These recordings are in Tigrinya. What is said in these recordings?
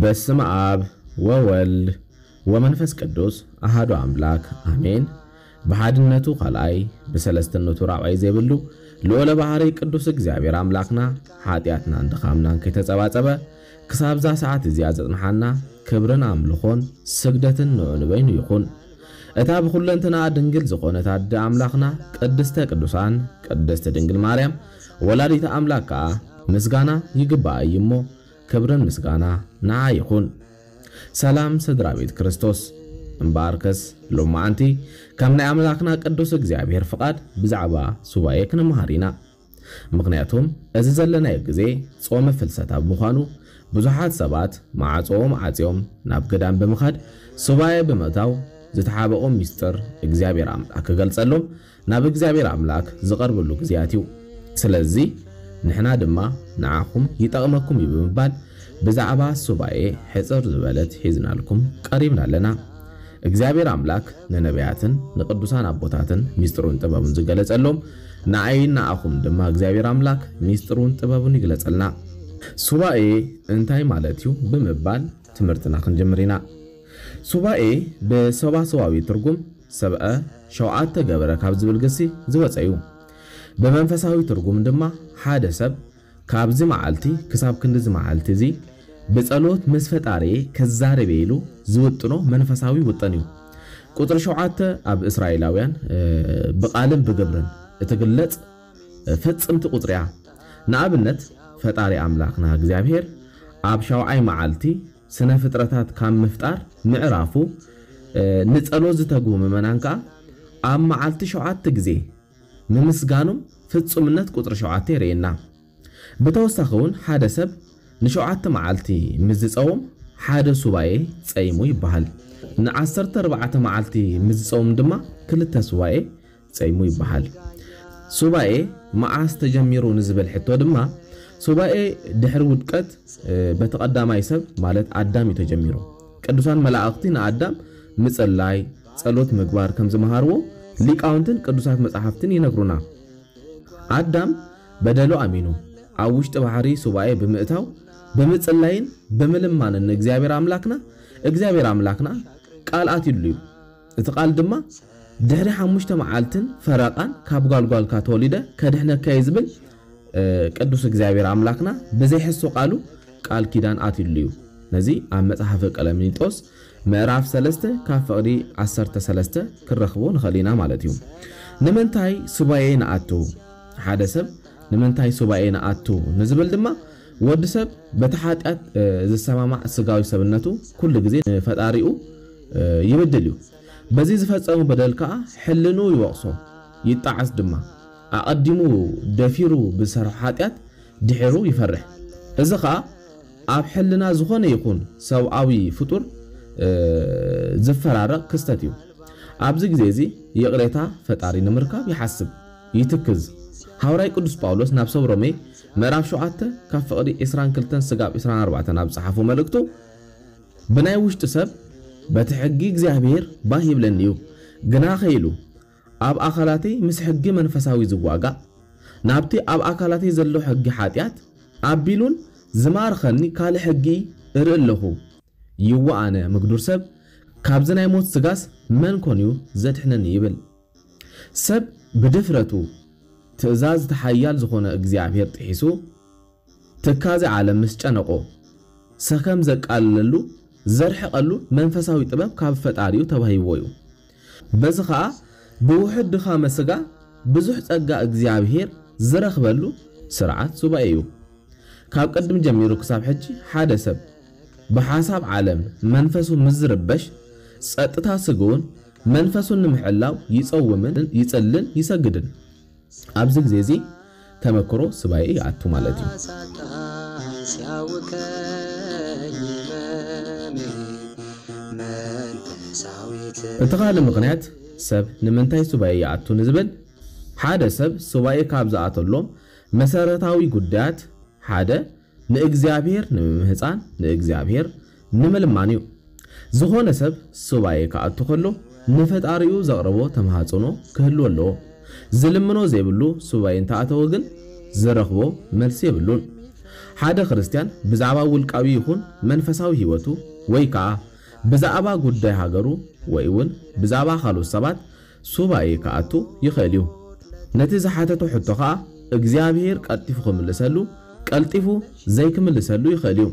በስመ አብ ወወልድ ወመንፈስ ቅዱስ አሃዱ አምላክ አሜን። ብሓድነቱ ካልኣይ ብሰለስትነቱ ራብዓይ ዘይብሉ ልዑለ ባህሪ ቅዱስ እግዚኣብሔር ኣምላክና ሓጢኣትናን ድኻምናን ከይተጸባጸበ ክሳብዛ ሰዓት እዚኣ ዘጽንሓና ክብርን ኣምልኾን ስግደትን ንዑ ንበይኑ ይኹን። እታ ብኹለንትናኣ ድንግል ዝኾነት ኣደ ኣምላኽና ቅድስተ ቅዱሳን ቅድስቲ ድንግል ማርያም ወላዲተ ኣምላክ ከኣ ምስጋና ይግባኣ እዩ እሞ ክብርን ምስጋና ንዓ ይኹን። ሰላም ስድራ ቤት ክርስቶስ። እምበኣርከስ ሎማዓንቲ ከም ናይ ኣምላኽና ቅዱስ እግዚኣብሔር ፍቓድ ብዛዕባ ሱባኤ ክንመሃር ኢና። ምኽንያቱም እዚ ዘለናዮ ግዜ ጾመ ፍልሰታ ብምዃኑ ብዙሓት ሰባት መዓጾኦም ዓጽዮም ናብ ገዳም ብምኻድ ሱባኤ ብምእታው ዝተሓበኦም ሚስጥር እግዚኣብሔር ኣምላኽ ክገልጸሎም ናብ እግዚኣብሔር ኣምላኽ ዝቐርብሉ ግዜያት እዩ። ስለዚ ንሕና ድማ ንዓኹም ይጠቕመኩም እዩ ብምባል ብዛዕባ ሱባኤ ሕጽር ዝበለት ሒዝናልኩም ቀሪብና ኣለና። እግዚኣብሔር ኣምላክ ንነቢያትን ንቅዱሳን ኣቦታትን ሚስጥሩን ጥበቡን ዝገለጸሎም ንኣይን ንኣኹም ድማ እግዚኣብሔር ኣምላክ ሚስጥሩን ጥበቡን ይግለጸልና። ሱባኤ እንታይ ማለት እዩ ብምባል ትምህርትና ክንጅምር ኢና። ሱባኤ ብሰዋስዋዊ ትርጉም ሰብአ ሸውዓተ ገበረ ካብ ዝብል ግሲ ዝወፀ እዩ። ብመንፈሳዊ ትርጉም ድማ ሓደ ሰብ ካብዚ መዓልቲ ክሳብ ክንድዚ መዓልቲ እዚ ብጸሎት ምስ ፈጣሪየ ክዛረብ ኢሉ ዝውጥኖ መንፈሳዊ ውጥን እዩ። ቁጽሪ ሸውዓተ ኣብ እስራኤላውያን ብቓልን ብግብርን እትግለጽ ፍጽምቲ ቁጽሪ እያ። ንኣብነት ፈጣሪ ኣምላኽና እግዚኣብሔር ኣብ ሻውዓይ መዓልቲ ስነ ፍጥረታት ካብ ምፍጣር ምዕራፉ ንጸሎት ዝተግሁ ምእመናን ከኣ ኣብ መዓልቲ ሸውዓተ ግዜ ምምስጋኖም ፍጹምነት ቁጽሪ ሸውዓተ የርእየና። ብተወሳኺ እውን ሓደ ሰብ ንሸውዓተ መዓልቲ ምስ ዝጸውም ሓደ ሱባኤ ጸይሙ ይበሃል። ንዓሰርተ ኣርባዕተ መዓልቲ ምስ ዝጸውም ድማ ክልተ ሱባኤ ጸይሙ ይበሃል። ሱባኤ መዓስ ተጀሚሩ ንዝብል ሕቶ ድማ ሱባኤ ድሕሪ ውድቀት በቲ ቀዳማይ ሰብ ማለት ኣዳም እዩ ተጀሚሩ። ቅዱሳን መላእኽቲ ንኣዳም ምጽላይ፣ ጸሎት ምግባር ከም ዝመሃርዎ ሊቃውንትን ቅዱሳት መጻሕፍትን ይነግሩና። ኣዳም በደሉ ኣሚኑ ኣብ ውሽጢ ባሕሪ ሱባኤ ብምእታው ብምጽላይን ብምልማንን ንእግዚኣብሔር ኣምላክና እግዚኣብሔር ኣምላክና ቃል ኣትዩሉ እዩ። እቲ ቃል ድማ ድሕሪ ሓሙሽተ መዓልትን ፈረቓን ካብ ጓልጓልካ ተወሊደ ከድሕነካ እየ ዝብል ቅዱስ እግዚኣብሔር ኣምላክና ብዘይሕሱ ቃሉ ቃል ኪዳን ኣትዩሉ እዩ። ነዚ ኣብ መጽሓፈ ቀለሚንጦስ ምዕራፍ ሰለስተ ካብ ፍቕዲ ዓሰርተ ሰለስተ ክንረኽቦ ንኽእል ኢና ማለት እዩ። ንምንታይ ሱባኤ ንኣቱ? ሓደ ሰብ ንምንታይ ሱባኤ ንኣቱ ንዝብል ድማ ወዲ ሰብ በቲ ሓጢኣት ዝሰማማዕ ስጋዊ ሰብነቱ ኩሉ ግዜ ንፈጣሪኡ ይብድል እዩ። በዚ ዝፈጸሙ በደል ከኣ ሕልንኡ ይወቕሶ ይጣዓስ ድማ። ኣቐዲሙ ደፊሩ ብዝሰርሖ ሓጢኣት ድሒሩ ይፈርሕ። እዚ ኸኣ ኣብ ሕልና ዝኾነ ይኹን ሰብኣዊ ፍጡር ዝፈራረቕ ክስተት እዩ። ኣብዚ ግዜ እዚ ይቕሬታ ፈጣሪ ንምርካብ ይሓስብ፣ ይትክዝ። ሃዋርያይ ቅዱስ ጳውሎስ ናብ ሰብ ሮሜ ምዕራፍ ሸውዓተ ካብ ፍቕዲ ዕስራን ክልተን ስጋብ ዕስራን ኣርባዕተን ኣብ ዝጸሓፎ መልእክቱ ብናይ ውሽጢ ሰብ በቲ ሕጊ እግዚኣብሔር ባህ ይብለኒ እዩ፣ ግና ኸኢሉ ኣብ ኣካላተይ ምስ ሕጊ መንፈሳዊ ዝዋጋእ ናብቲ ኣብ ኣካላተይ ዘሎ ሕጊ ሓጢኣት ኣቢሉን ዝማርኸኒ ካልእ ሕጊ እርኢ ኣለኹ። ይዋ ኣነ ምግዱር ሰብ ካብዚ ናይ ሞት ስጋስ መን ኮን እዩ ዘድሕነኒ ይብል። ሰብ ብድፍረቱ ትእዛዝ ተሓያል ዝኾነ እግዚኣብሔር ጥሒሱ ትካዜ ዓለም ምስ ጨነቆ ሰከም ዘቃልለሉ ዘርሕቐሉ መንፈሳዊ ጥበብ ካብ ፈጣሪኡ ተዋሂብዎ እዩ። በዚ ኸኣ ብውሑድ ድኻመ ስጋ ብዙሕ ጸጋ እግዚኣብሔር ዝረኽበሉ ስርዓት ሱባኤ እዩ። ካብ ቅድም ጀሚሩ ክሳብ ሕጂ ሓደ ሰብ ብሓሳብ ዓለም መንፈሱ ምስ ዝርበሽ ጸጥታ ስግኡን መንፈሱን ንምሕላው ይጸውምን ይጽልን ይሰግድን። ኣብዚ ግዜ እዚ ተመክሮ ሱባኤ ይኣቱ ማለት እዩ። እቲ ካልእ ምኽንያት ሰብ ንምንታይ ሱባኤ ይኣቱ ንዝብል ሓደ ሰብ ሱባኤ ካብ ዝኣተሎም መሰረታዊ ጉዳያት ሓደ ንእግዚኣብሔር ንምምህጻን ንእግዚኣብሔር ንምልማን እዩ። ዝኾነ ሰብ ሱባኤ ክኣቱ ከሎ ንፈጣሪኡ ዘቕርቦ ተማሃጽኖ ክህልዎ ኣለዎ። ዝልምኖ ዘይብሉ ሱባኤ እንተኣተወ ግን ዝረኽቦ መልሲ የብሉን። ሓደ ክርስትያን ብዛዕባ ውልቃዊ ይኹን መንፈሳዊ ህይወቱ ወይ ከኣ ብዛዕባ ጉዳይ ሃገሩ ወይ እውን ብዛዕባ ካልኦት ሰባት ሱባኤ ክኣቱ ይኽእል እዩ። ነቲ ዝሓተቶ ሕቶ ከኣ እግዚኣብሔር ቀልጢፉ ክምልሰሉ፣ ቀልጢፉ ዘይክምልሰሉ ይኽእል እዩ።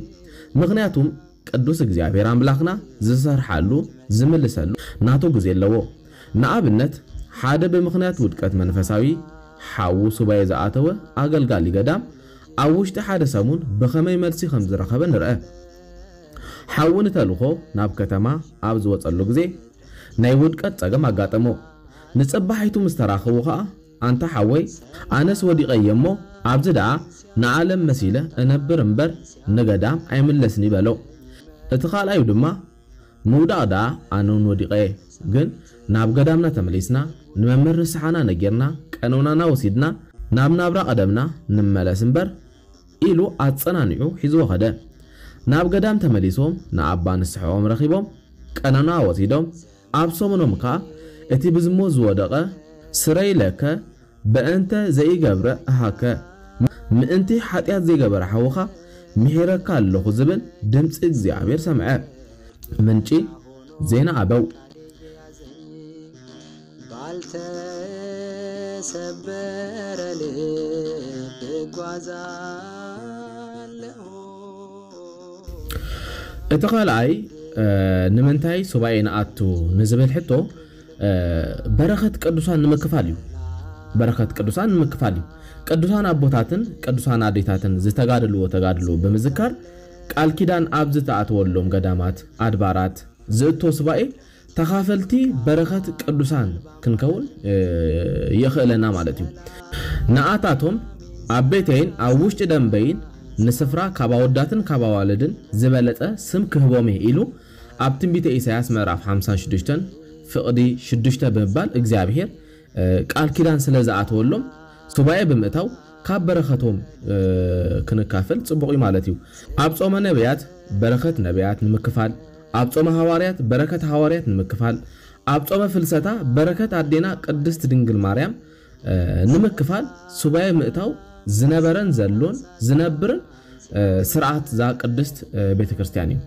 ምኽንያቱም ቅዱስ እግዚኣብሔር ኣምላኽና ዝሰርሓሉ፣ ዝምልሰሉ ናቱ ግዜ ኣለዎ። ንኣብነት ሓደ ብምኽንያት ውድቀት መንፈሳዊ ሓዉ ሱባኤ ዝኣተወ ኣገልጋሊ ገዳም ኣብ ውሽጢ ሓደ ሰሙን ብኸመይ መልሲ ከም ዝረኸበ ንርአ። ሓዉ ንተልእኾ ናብ ከተማ ኣብ ዝወጸሉ ግዜ ናይ ውድቀት ጸገም ኣጋጠሞ። ንጽባሒቱ ምስ ተራኸቡ ኸኣ ኣንታ ሓወይ ኣነስ ወዲቐ እየ እሞ ኣብዚ ደኣ ንዓለም መሲለ እነብር እምበር ንገዳም ኣይምለስን በሎ። እቲ ካልኣዩ ድማ ምውዳቕ ደኣ ኣነ እውን ወዲቐ እየ፣ ግን ናብ ገዳምና ተመሊስና ንመምህር ንስሓና ነጊርና ቀኖናና ወሲድና ናብ ናብራ ቀደምና ንመለስ እምበር ኢሉ ኣጸናኒዑ ሒዝዎ ኸደ። ናብ ገዳም ተመሊሶም ንኣባ ንስሕኦም ረኺቦም ቀኖና ወሲዶም ኣብ ሰሙኖም ከኣ እቲ ብዝሙት ዝወደቐ ስረይ ለከ በእንተ ዘይገብረ እሃከ ምእንቲ ሓጢኣት ዘይገበረ ሓውኻ ምሒረካ ኣለኹ ዝብል ድምፂ እግዚኣብሔር ሰምዐ። ምንጪ ዜና ኣበው። ባልተሰበረ ልብ እጓዛለሁ። እቲ ካልኣይ ንምንታይ ሱባኤ ንኣቱ ንዝብል ሕቶ በረኸት ቅዱሳን ንምክፋል እዩ። በረኸት ቅዱሳን ንምክፋል እዩ። ቅዱሳን ኣቦታትን ቅዱሳን ኣዴታትን ዝተጋደልዎ ተጋድሎ ብምዝካር ቃል ኪዳን ኣብ ዝተኣተወሎም ገዳማት ኣድባራት ዝእቶ ሱባኤ ተኻፈልቲ በረኸት ቅዱሳን ክንከውን የኽእለና ማለት እዩ። ንኣታቶም ኣብ ቤተይን ኣብ ውሽጢ ደንበይን ንስፍራ ካብ ኣወዳትን ካብ ኣዋልድን ዝበለጸ ስም ክህቦም እየ ኢሉ ኣብ ትንቢተ ኢሳያስ ምዕራፍ ሓምሳን ሽዱሽተን ፍቕዲ ሽዱሽተ ብምባል እግዚኣብሔር ቃል ኪዳን ስለ ዝኣተወሎም ሱባኤ ብምእታው ካብ በረኸቶም ክንካፈል ጽቡቕ እዩ ማለት እዩ። ኣብ ጾመ ነቢያት በረኸት ነቢያት ንምክፋል፣ ኣብ ጾመ ሃዋርያት በረከት ሃዋርያት ንምክፋል፣ ኣብ ጾመ ፍልሰታ በረከት ኣዴና ቅድስት ድንግል ማርያም ንምክፋል ሱባኤ ምእታው ዝነበረን ዘሎን ዝነብርን ስርዓት እዛ ቅድስት ቤተ ክርስቲያን እዩ።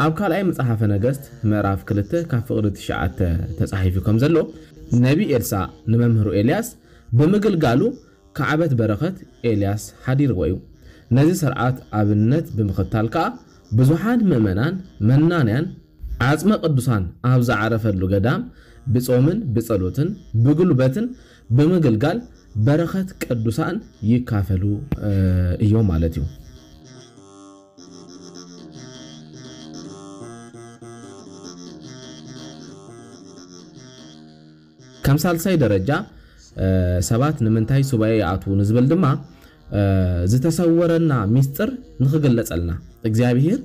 ኣብ ካልኣይ መጽሓፈ ነገስት ምዕራፍ ክልተ ካብ ፍቕዲ ትሽዓተ ተጻሒፉ ከም ዘሎ ነቢ ኤልሳ ንመምህሩ ኤልያስ ብምግልጋሉ ካዕበት በረኸት ኤልያስ ሓዲርዎ እዩ። ነዚ ስርዓት ኣብነት ብምኽታል ከኣ ብዙሓን ምእመናን መናንያን ዓጽመ ቅዱሳን ኣብ ዝዓረፈሉ ገዳም ብጾምን ብጸሎትን ብጉልበትን ብምግልጋል በረኸት ቅዱሳን ይካፈሉ እዮም ማለት እዩ። ከም ሳልሳይ ደረጃ ሰባት ንምንታይ ሱባኤ ይኣትዉ ንዝብል ድማ ዝተሰወረና ሚስጥር ንኽግለጸልና፣ እግዚኣብሔር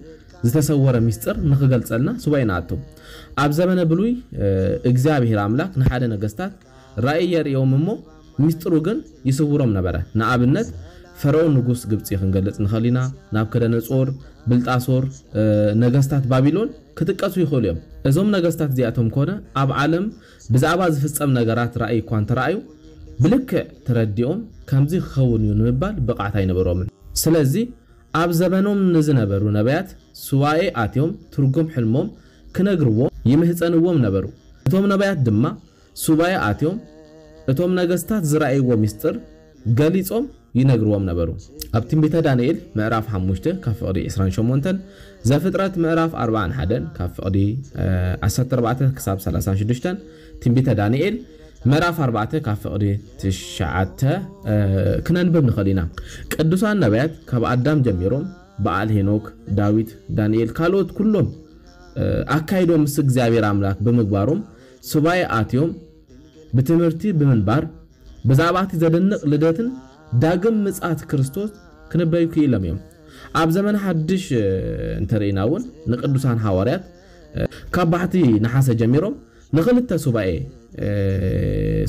ዝተሰወረ ሚስጥር ንኽገልጸልና ሱባኤ ንኣቱ። ኣብ ዘመነ ብሉይ እግዚኣብሔር ኣምላኽ ንሓደ ነገስታት ራእይ የርእዮም እሞ ሚስጥሩ ግን ይስውሮም ነበረ። ንኣብነት ፈርኦን ንጉስ ግብጺ ክንገልጽ ንኽእል ኢና። ናብከደነጾር፣ ብልጣሶር፣ ነገስታት ባቢሎን ክጥቀሱ ይኽእሉ እዮም። እዞም ነገስታት እዚኣቶም ኮነ ኣብ ዓለም ብዛዕባ ዝፍጸም ነገራት ራእይ እኳ እንተረኣዩ ብልክዕ ተረዲኦም ከምዚ ክኸውን እዩ ንምባል ብቕዓት ኣይነበሮምን። ስለዚ ኣብ ዘመኖም ንዝነበሩ ነቢያት ሱባኤ ኣትዮም ትርጉም ሕልሞም ክነግርዎም ይምህጸንዎም ነበሩ። እቶም ነቢያት ድማ ሱባኤ ኣትዮም እቶም ነገስታት ዝረኣይዎ ምስጢር ገሊጾም ይነግርዎም ነበሩ። ኣብ ትንቢተ ዳንኤል ምዕራፍ ሓሙሽተ ካብ ፍቕዲ ዕስራን ሸሞንተን፣ ዘፍጥረት ምዕራፍ ኣርባዓን ሓደን ካብ ፍቕዲ ዓሰርተ ኣርባዕተ ክሳብ ሰላሳን ሽዱሽተን፣ ትንቢተ ዳንኤል ምዕራፍ ኣርባዕተ ካብ ፍቕዲ ትሽዓተ ክነንብብ ንኽእል ኢና። ቅዱሳን ነቢያት ካብ ኣዳም ጀሚሮም በዓል ሄኖክ፣ ዳዊት፣ ዳንኤል ካልኦት ኩሎም ኣካይዶም ምስ እግዚኣብሔር ኣምላኽ ብምግባሮም ሱባኤ ኣትዮም ብትምህርቲ ብምንባር ብዛዕባ እቲ ዘደንቕ ልደትን ዳግም ምጽኣት ክርስቶስ ክነበዩ ክኢሎም እዮም። ኣብ ዘመን ሓድሽ እንተርኢና እውን ንቅዱሳን ሃዋርያት ካብ ባሕቲ ነሓሰ ጀሚሮም ንኽልተ ሱባኤ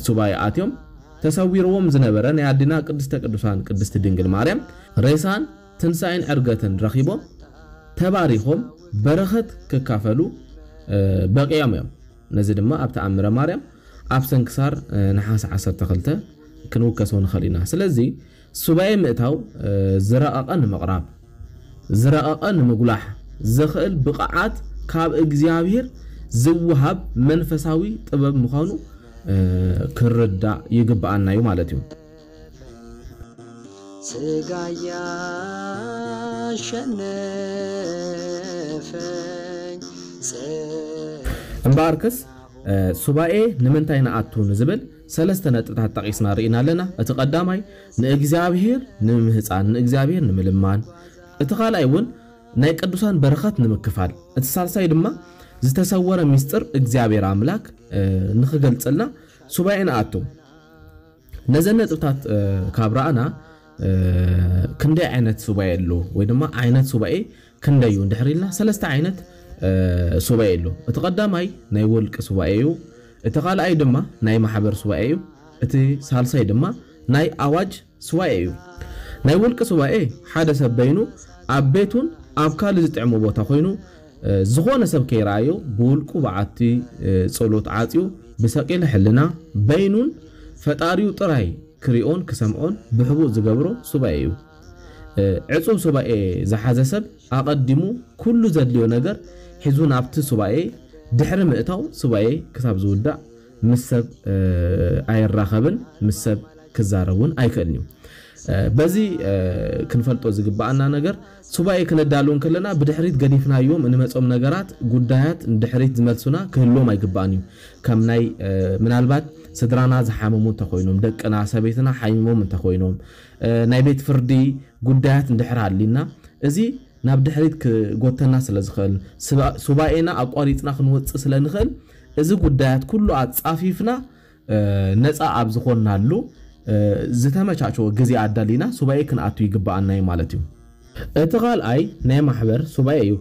ሱባኤ ኣትዮም ተሰዊርዎም ዝነበረ ናይ ኣዴና ቅድስተ ቅዱሳን ቅድስቲ ድንግል ማርያም ሬሳን ትንሳኤን ዕርገትን ረኺቦም ተባሪኾም በረኸት ክካፈሉ በቂዖም እዮም። ነዚ ድማ ኣብ ተኣምረ ማርያም ኣብ ሰንክሳር ነሓሰ ዓሰርተ ክልተ ክንውከሶ ንኽእል ኢና። ስለዚ ሱባኤ ምእታው ዝረቐቐ ንምቕራብ ዝረቐቐ ንምጉላሕ ዘኽእል ብቕዓት ካብ እግዚኣብሔር ዝወሃብ መንፈሳዊ ጥበብ ምዃኑ፣ እ፣ ክርዳእ ይግብኣና እዩ ማለት እዩ። ስጋ ያሸነፈኝ እምበኣርከስ፣ እ፣ ሱባኤ ንምንታይ ንኣቱ ንዝብል ሰለስተ ነጥብታት ጠቒስና ርኢና ኣለና። እቲ ቀዳማይ ንእግዚኣብሔር ንምህፃን፣ ንእግዚኣብሔር ንምልማን። እቲ ካልኣይ እውን ናይ ቅዱሳን በረኸት ንምክፋል። እቲ ሳልሳይ ድማ ዝተሰወረ ምስጢር እግዚኣብሔር ኣምላክ፣ እ፣ ንኽገልጽልና ሱባኤ ንኣቱ። ነዘን ነጥብታት፣ እ፣ ካብ ረኣና፣ እ፣ ክንደይ ዓይነት ሱባኤ ኣሎ ወይ ድማ ዓይነት ሱባኤ ክንደይ እዩ እንድሕር ኢልና ሰለስተ ዓይነት፣ እ፣ ሱባኤ ኣሎ። እቲ ቀዳማይ ናይ ውልቂ ሱባኤ እዩ። እቲ ካልኣይ ድማ ናይ ማሕበር ሱባኤ እዩ። እቲ ሳልሳይ ድማ ናይ ኣዋጅ ሱባኤ እዩ። ናይ ውልቂ ሱባኤ ሓደ ሰብ በይኑ ኣብ ቤቱን ኣብ ካልእ ዝጥዕሞ ቦታ ኮይኑ፣ እ፣ ዝኾነ ሰብ ከይረኣዮ ብውልቁ በዓቲ፣ እ፣ ጸሎት ዓጽዩ ብሰቂለ ሕልና በይኑን ፈጣሪኡ ጥራይ ክሪኦን ክሰምዖን ብሕቡእ ዝገብሮ ሱባኤ እዩ። እ፣ ዕጹው ሱባኤ ዝሓዘ ሰብ ኣቐዲሙ ኩሉ ዘድልዮ ነገር ሒዙ ናብቲ ሱባኤ ድሕሪ ምእታው ሱባኤ ክሳብ ዝውዳእ ምስ ሰብ፣ እ፣ ኣይራኸብን፣ ምስ ሰብ ክዛረብ እውን ኣይክእልን እዩ። እ፣ በዚ፣ እ፣ ክንፈልጦ ዝግብኣና ነገር ሱባኤ ክነዳሉ እንከለና ብድሕሪት ገዲፍናዮም እንመጾም ነገራት፣ ጉዳያት ንድሕሪት ዝመልሱና ክህልዎም ኣይግባእን እዩ። ከም ናይ፣ እ፣ ምናልባት ስድራና ዝሓመሙ እንተኾይኖም፣ ደቅና፣ ሰበይትና ሓሚሞም እንተኾይኖም፣ እ፣ ናይ ቤት ፍርዲ ጉዳያት እንድሕር ሃሊና፣ እዚ ናብ ድሕሪት ክጎተና ስለ ዝኽእል፣ ስባ-፣ ሱባኤና ኣቋሪጽና ክንወጽእ ስለ ንኽእል፣ እዚ ጉዳያት ኩሉ ኣጻፊፍና፣ እ፣ ነጻ ኣብ ዝኾንናሉ፣ እ፣ ዝተመቻቸወ ግዜ ኣዳሊና ሱባኤ ክንኣቱ ይግብኣና እዩ ማለት እዩ። እቲ ካልኣይ ናይ ማሕበር ሱባኤ እዩ።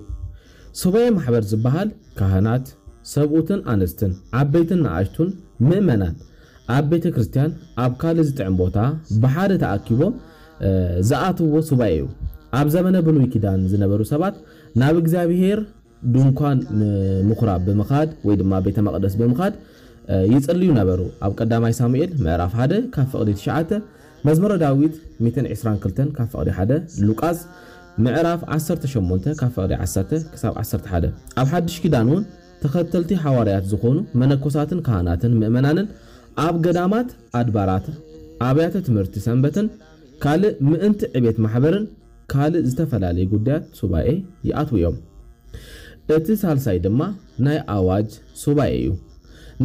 ሱባኤ ማሕበር ዝበሃል ካህናት፣ ሰብኡትን ኣንስትን፣ ዓበይትን ንኣሽቱን ምእመናን ኣብ ቤተ ክርስቲያን ኣብ ካልእ ዝጥዕም ቦታ ብሓደ ተኣኪቦም፣ እ፣ ዝኣትዎ ሱባኤ እዩ። ኣብ ዘመነ ብሉይ ኪዳን ዝነበሩ ሰባት ናብ እግዚኣብሔር ድንኳን ም-፣ ምኹራብ ብምኻድ ወይ ድማ ቤተ መቕደስ ብምኻድ፣ እ፣ ይጽልዩ ነበሩ። ኣብ ቀዳማይ ሳሙኤል ምዕራፍ ሓደ ካብ ፍቕዲ ትሽዓተ፣ መዝሙረ ዳዊት ሚእትን ዕስራን ክልተን ካብ ፍቕዲ ሓደ፣ ሉቃስ ምዕራፍ ዓሰርተ ሸሞንተ ካብ ፍቕዲ ዓሰርተ ክሳብ ዓሰርተ ሓደ። ኣብ ሓድሽ ኪዳን እውን ተኸተልቲ ሃዋርያት ዝኾኑ መነኮሳትን ካህናትን ምእመናንን ኣብ ገዳማት፣ ኣድባራት፣ ኣብያተ ትምህርቲ ሰንበትን ካልእ ምእንቲ ዕቤት ማሕበርን ካልእ ዝተፈላለየ ጉዳያት ሱባኤ ይኣትዉ እዮም። እቲ ሳልሳይ ድማ ናይ ኣዋጅ ሱባኤ እዩ።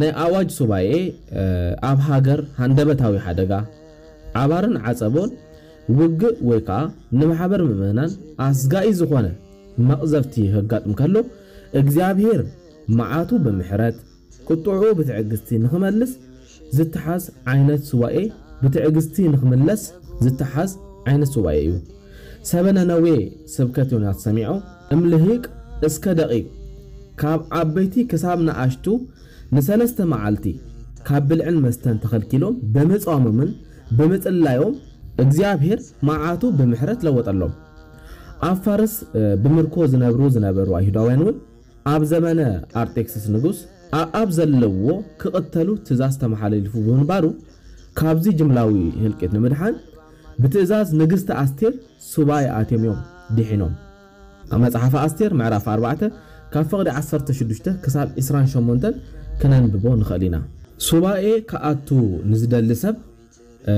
ናይ ኣዋጅ ሱባኤ፣ እ፣ ኣብ ሃገር ሃንደበታዊ ሓደጋ፣ ዓባርን ዓጸቦን፣ ውግእ ወይ ከኣ ንማሕበር ምእመናን ኣስጋኢ ዝኾነ መቕዘፍቲ ከጋጥም ከሎ፣ እግዚኣብሔር መዓቱ ብምሕረት፣ ቁጥዑ ብትዕግስቲ ንኽመልስ ዝተሓዝ ዓይነት ሱባኤ፣ ብትዕግስቲ ንኽምለስ ዝተሓዝ ዓይነት ሱባኤ እዩ። ሰበ ነነዌ ስብከት ዮናስ ሰሚዖ፣ እም ልሂቅ እስከ ደቂቅ፣ ካብ ዓበይቲ ክሳብ ንኣሽቱ ንሰለስተ መዓልቲ ካብ ብልዕን መስተን ተኸልኪሎም ብምጻሞምን ብምጽላዮም እግዚኣብሔር መዓቱ ብምሕረት ለወጠሎም። ኣብ ፋርስ፣ እ፣ ብምርኮ ዝነብሩ ዝነበሩ ኣይሁዳውያን እውን ኣብ ዘመነ ኣርጤክስስ ንጉስ ኣኣብ ዘለዎ ክቕተሉ ትእዛዝ ተመሓላሊፉ ብምንባሩ፣ ካብዚ ጅምላዊ ህልቂት ንምድሓን ብትእዛዝ ንግስቲ ኣስቴር ሱባኤ ኣትዮም እዮም ድሒኖም። ኣብ መጽሓፈ ኣስቴር ምዕራፍ ኣርባዕተ ካብ ፍቕዲ ዓሰርተ ሽዱሽተ ክሳብ ዕስራን ሸሞንተን ክነንብቦ ንኽእል ኢና። ሱባኤ ክኣቱ ንዝደሊ ሰብ፣ እ፣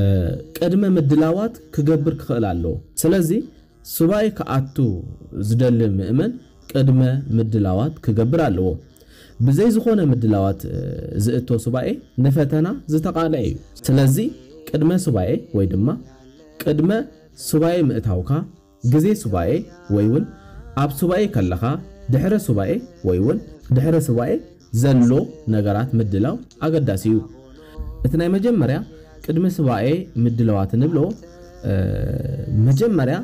ቅድመ ምድላዋት ክገብር ክኽእል ኣለዎ። ስለዚ ሱባኤ ክኣቱ ዝደሊ ምእመን ቅድመ ምድላዋት ክገብር ኣለዎ። ብዘይ ዝኾነ ምድላዋት፣ እ፣ ዝእቶ ሱባኤ ንፈተና ዝተቓልዐ እዩ። ስለዚ ቅድመ ሱባኤ ወይ ድማ ቅድመ ሱባኤ ምእታውካ፣ ግዜ ሱባኤ ወይ እውን ኣብ ሱባኤ ከለኻ፣ ድሕረ ሱባኤ ወይ እውን ድሕረ ሱባኤ ዘሎ ነገራት ምድላው ኣገዳሲ እዩ። እቲ ናይ መጀመርያ ቅድሚ ሱባኤ ምድላዋት እንብሎ፣ እ፣ መጀመርያ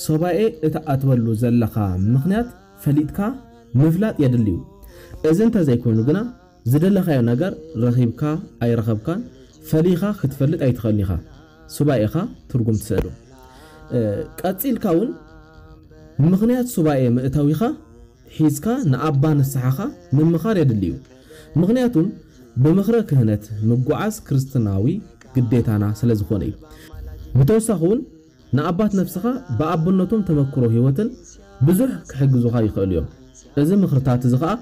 ሱባኤ እትኣትወሉ ዘለኻ ምኽንያት ፈሊጥካ ምፍላጥ የድሊ እዩ። እዚ እንተዘይኮይኑ ግና ዝደለኻዮ ነገር ረኺብካ ኣይረኸብካን ፈሊኻ ክትፈልጥ ኣይትኽእልን ኢኻ። ሱባኤኻ ትርጉም ትስእኑ። እ፣ ቀጺልካ እውን ምኽንያት ሱባኤ ምእታዊኻ ሒዝካ ንኣባ ንስሓኻ ምምኻር የድሊ እዩ። ምኽንያቱም ብምኽረ ክህነት ምጉዓዝ ክርስትናዊ ግዴታና ስለ ዝኾነ እዩ። ብተወሳኺ እውን ንኣባት ነፍስኻ ብኣቦነቶም ተመክሮ ህይወትን ብዙሕ ክሕግዙኻ ይኽእሉ እዮም። እዚ ምኽርታት እዚ ኸኣ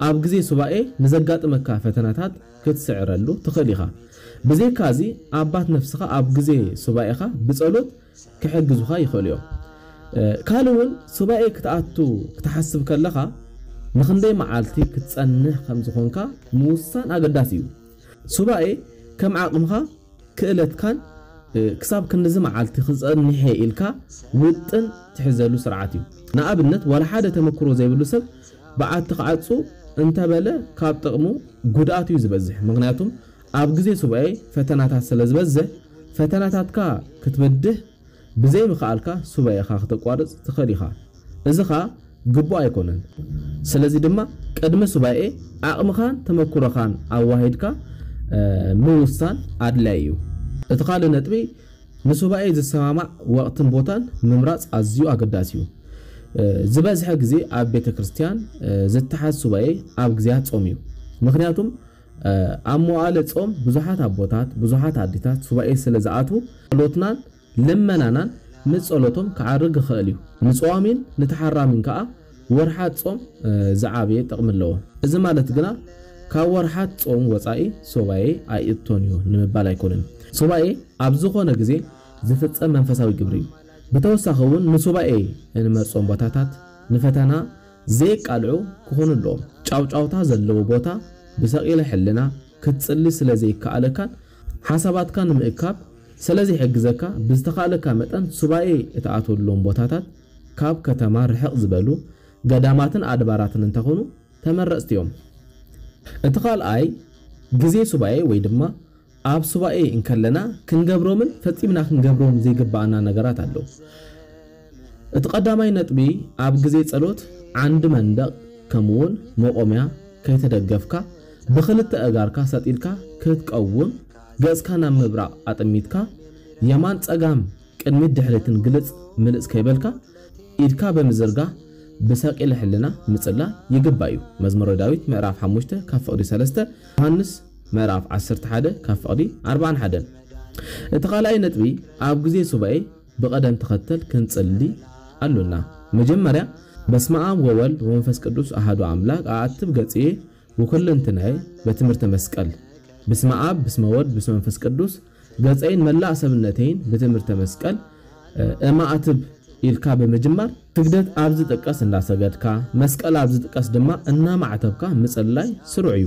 ኣብ ግዜ ሱባኤ ንዘጋጥመካ ፈተናታት ክትስዕረሉ ትኽእል ኢኻ። ብዘይካዚ ኣባት ነፍስኻ ኣብ ግዜ ሱባኤኻ ብጸሎት ክሕግዙኻ ይኽእሉ እዮም። ካልእ እውን ሱባኤ ክትኣቱ ክትሓስብ ከለኻ ንኽንደይ መዓልቲ ክትጸንሕ ከም ዝኾንካ ምውሳን ኣገዳሲ እዩ። ሱባኤ ከም ዓቕምኻ ክእለትካን ክሳብ ክንድዚ መዓልቲ ክጸንሕ ኢልካ ውጥን ትሕዘሉ ስርዓት እዩ። ንኣብነት ዋላ ሓደ ተመክሮ ዘይብሉ ሰብ በዓቲ ክዓጹ እንተበለ ካብ ጥቕሙ ጉድኣት እዩ ዝበዝሕ። ምኽንያቱም ኣብ ግዜ ሱባኤ ፈተናታት ስለ ዝበዝሕ ፈተናታትካ ክትበድህ ብዘይምኽኣልካ ሱባኤኻ ክተቋርጽ ትኽእል ኢኻ። እዚ ኸኣ ግቡእ ኣይኮነን። ስለዚ ድማ ቅድሚ ሱባኤ ዓቕምኻን ተመክሮኻን ኣዋሂድካ ምውሳን ኣድላይ እዩ። እቲ ካልእ ነጥቢ ንሱባኤ ዝሰማማዕ ወቕትን ቦታን ምምራጽ ኣዝዩ ኣገዳሲ እዩ። ዝበዝሐ ግዜ ኣብ ቤተ ክርስቲያን ዝተሓዝ ሱባኤ ኣብ ግዜያት ጾም እዩ። ምኽንያቱም ኣብ መዋእለ ጾም ብዙሓት ኣቦታት ብዙሓት ኣዴታት ሱባኤ ስለ ዝኣትዉ ጸሎትናን ልመናናን ምስ ጸሎቶም ክዓርግ ይኽእል እዩ። ንጸዋሚን ንተሓራሚን ከኣ ወርሓት ጾም ዝዓበየ ጥቕሚ ኣለዎ። እዚ ማለት ግና ካብ ወርሓት ጾም ወጻኢ ሱባኤ ኣይእቶን እዩ ንምባል ኣይኮነን። ሱባኤ ኣብ ዝኾነ ግዜ ዝፍጸም መንፈሳዊ ግብሪ እዩ። ብተወሳኺ እውን ንሱባኤ እንመርጾም ቦታታት ንፈተና ዘየቃልዑ ክኾኑ ኣለዎም። ጫውጫውታ ዘለዎ ቦታ ብሰቒለ ሕልና ክትጽሊ ስለ ዘይከኣለካን ሓሳባትካ ንምእካብ ስለ ዘይሕግዘካ ብዝተኻእለካ መጠን ሱባኤ እትኣትወሎም ቦታታት ካብ ከተማ ርሕቕ ዝበሉ ገዳማትን ኣድባራትን እንተኾኑ ተመረጽቲ እዮም። እቲ ካልኣይ ግዜ ሱባኤ ወይ ድማ ኣብ ሱባኤ እንከለና ክንገብሮምን ፈጺምና ክንገብሮም ዘይግባኣና ነገራት ኣለዉ። እቲ ቀዳማይ ነጥቢ ኣብ ግዜ ጸሎት ዓንዲ መንደቕ ከምኡውን መቖምያ ከይተደገፍካ ብኽልተ ኣእጋርካ ሰጥ ኢልካ ክትቀውም ገጽካ ናብ ምብራቕ ኣጠሚትካ የማን ጸጋም ቅድሚት ድሕሪትን ግልጽ ምልጽ ከይበልካ ኢድካ ብምዝርጋሕ ብሰቂለ ሕልና ምጽላ ይግባእ እዩ። መዝሙረ ዳዊት ምዕራፍ ሓሙሽተ ካብ ፍቕዲ ሰለስተ፣ ዮሃንስ ምዕራፍ ዓሰርተ ሓደ ካብ ፍቕዲ ኣርባዓን ሓደን። እቲ ካልኣይ ነጥቢ ኣብ ግዜ ሱባኤ ብቐደም ተኸተል ክንጽሊ ኣሉና። መጀመርያ በስመ ኣብ ወወልድ ወመንፈስ ቅዱስ ኣሃዱ ኣምላክ ኣኣትብ ገጽየ ወኩለንትናየ በትምህርተ መስቀል። በስመ ኣብ በስመ ወልድ በስመ መንፈስ ቅዱስ ገጸይን መላእ ሰብነተይን ብትምህርተ መስቀል እማእትብ ኢልካ ብምጅማር ስግደት ኣብ ዝጥቀስ እንዳሰገድካ መስቀል ኣብ ዝጥቀስ ድማ እናማዕተብካ ምጽላይ ስሩዕ እዩ።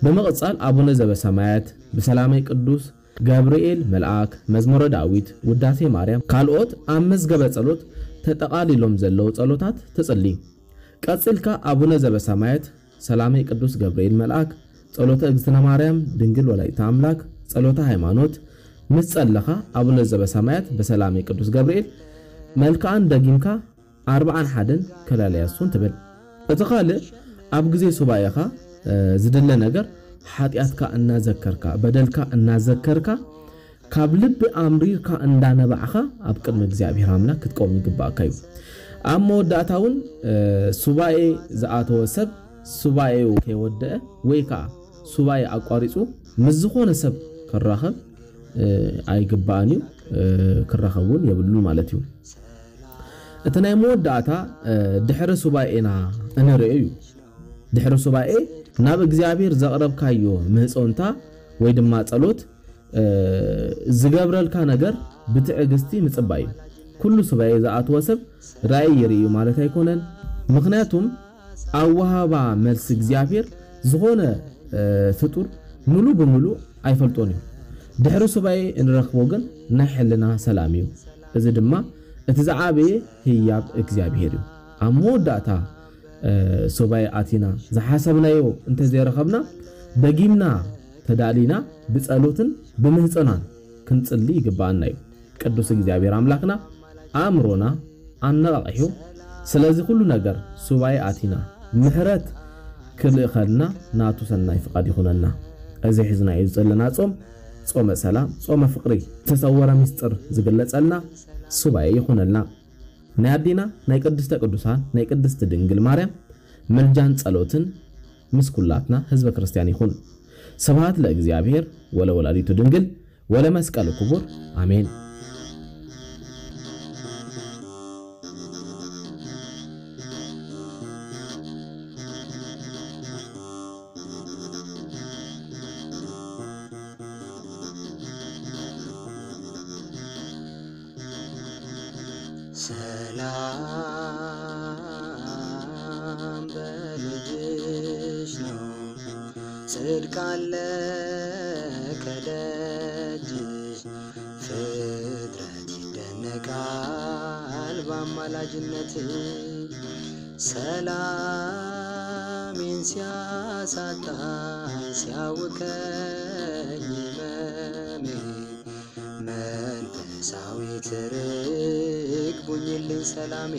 ብምቕጻል ኣቡነ ዘበሰማያት ብሰላመይ ቅዱስ ገብርኤል መልኣክ መዝሙረ ዳዊት ውዳሴ ማርያም ካልኦት ኣብ መዝገበ ጸሎት ተጠቓሊሎም ዘለዉ ጸሎታት ትጽሊ። ቀጺልካ ኣቡነ ዘበሰማያት ሰላመይ ቅዱስ ገብርኤል መልኣክ ጸሎተ እግዝእትነ ማርያም ድንግል ወላዲተ ኣምላክ ጸሎተ ሃይማኖት ምስ ጸለኻ ኣቡነ ዘበሰማያት በሰላመይ ቅዱስ ገብርኤል መልክኣን ደጊምካ ኣርብዓን ሓደን ከላልያሱን ትብል። እቲ ካልእ ኣብ ግዜ ሱባኤኻ ዝድለ ነገር ሓጢኣትካ እናዘከርካ በደልካ እናዘከርካ ካብ ልቢ ኣምሪርካ እንዳነባዕኻ ኣብ ቅድሚ እግዚኣብሔር ኣምላክ ክትቀውም ይግባእካ እዩ። ኣብ መወዳእታ እውን ሱባኤ ዝኣተወ ሰብ ሱባኤኡ ከይወደአ ወይ ከዓ ሱባኤ ኣቋሪፁ ምስ ዝኾነ ሰብ ክራኸብ ኣይግባእን እዩ። ክራኸብ እውን የብሉን ማለት እዩ። እቲ ናይ መወዳእታ ድሕሪ ሱባኤና እንርእዮ እዩ። ድሕሪ ሱባኤ ናብ እግዚኣብሔር ዘቕረብካዮ ምህፆንታ ወይ ድማ ጸሎት ዝገብረልካ ነገር ብትዕግስቲ ምጽባይ እዩ። ኩሉ ሱባኤ ዝኣተወ ሰብ ራእይ ይርእዩ ማለት ኣይኮነን። ምክንያቱም ኣወሃባ መልሲ እግዚኣብሔር ዝኾነ ፍጡር ሙሉ ብሙሉ ኣይፈልጦን እዩ። ድሕሪ ሱባኤ እንረኽቦ ግን ናይ ሕልና ሰላም እዩ። እዚ ድማ እቲ ዝዓበየ ህያብ እግዚኣብሔር እዩ። ኣብ መወዳእታ ሱባኤ ኣቲና ዝሓሰብናዮ እንተዘይረኸብና ደጊምና ተዳሊና ብጸሎትን ብምህጸናን ክንጽሊ ይግባኣና እዩ። ቅዱስ እግዚኣብሔር ኣምላኽና ኣእምሮና ኣነቓቒሑ ስለዚ ኩሉ ነገር ሱባኤ ኣቲና ምሕረት ክልእኸልና ናቱ ሰናይ ፍቓድ ይኹነልና። እዚ ሒዝናዮ ዘለና ጾም ጾመ ሰላም ጾመ ፍቕሪ ዝተሰወረ ምስጢር ዝግለጸልና ሱባኤ ይኹነልና። ናይ ኣዴና ናይ ቅድስተ ቅዱሳን ናይ ቅድስቲ ድንግል ማርያም ምልጃን ጸሎትን ምስ ኩላትና ህዝበ ክርስቲያን ይኹን። ስብሐት ለእግዚኣብሔር ወለወላዲቱ ድንግል ወለመስቀሉ ክቡር ኣሜን። ሰላም በልጅሽ ነው ጽድቅ አለ ከደጅሽ። ፍጥረት ይደነቃል በአማላጅነትሽ። ሰላሜን ሲያሳጣኝ ሲያውከኝ ህመሜ፣ መንፈሳዊት ርግብ ሁኚልኝ ሰላሜ።